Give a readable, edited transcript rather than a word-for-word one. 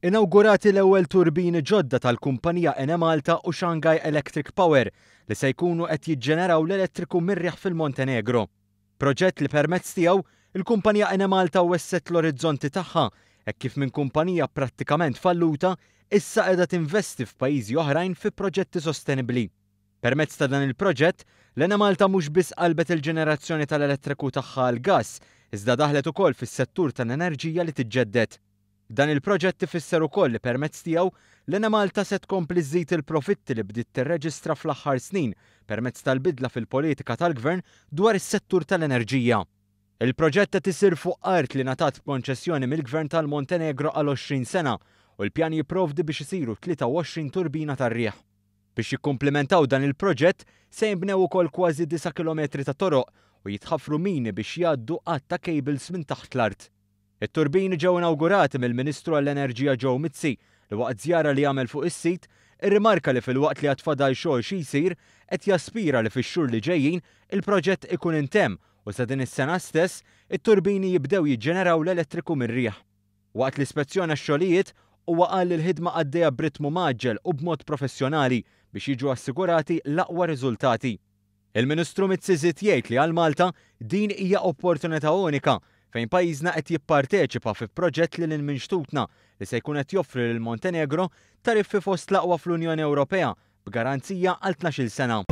Inawgurati l-ewwel turbini ġodda tal-kumpanija Enemalta u Shanghai Electric Power li se jkunu qed jiġġeneraw l-elettriku mir-riħ fil-Montenegro. Proġett li permezz tiegħu, il-kumpanija Enemalta wessgħet l-orizzonti tagħha hekk kif minn kumpanija prattikament falluta issa qiegħda tinvesti f'pajjiżi oħrajn fi proġetti sostenibbli. Permezz ta' dan il-proġett, l-Enemalta mhux biss qalbet il-ġenerazzjoni tal-elettriku tagħha għall-gass, iżda daħlet ukoll fis-settur tal-enerġija li tiġġedded. Dan il-proġett ifisser ukoll li permezz tiegħu, l-Enemalta se tkompli żżid il-profitti li bdiet tirreġistra fl-aħħar snin permezz tal-bidla fil-politika tal-Gvern dwar is-settur tal-enerġija. Il-proġett qed isir fuq art li ngħatat b'konċessjoni mill-Gvern tal-Montenegro għal 20 sena u l-pjan jipprovdi biex isiru 23 turbina tar-riħ. Biex jikkumplimentaw dan il-proġett, se jinbnew ukoll kważi disa' kilometri ta' toroq u jitħaffru mini biex jgħaddu għadd ta' cables minn taħt l-art. It-turbini ġew inawgurati mill-Ministru għall-Enerġija Joe Mizzi li waqt żjara li għamel fuq is-sit irrimarka li filwaqt li għad fadal xogħol xi jsir, qed jaspira li fix-xhur li ġejjin il-proġett ikun intemm u sa din is-sena stess it-turbini jibdew jiġġeneraw l-elettriku mir-riħ. Waqt li spezzjona x-xogħlijiet, huwa qal li l-ħidma għaddejja b'ritmu mgħaġġel u b'mod professjonali biex jiġu assigurati l-aqwa riżultati. Il-Ministru Mizzi żied jgħid li għal Malta din hija opportunità unika fejn pajjiżna qed jipparteċipa fi proġett lil hinn minn xtutna li se jkun qed joffri lil Montenegro tariffi fost l-aqwa fl-Unjoni Ewropea b'garanzija għal 12-il sena.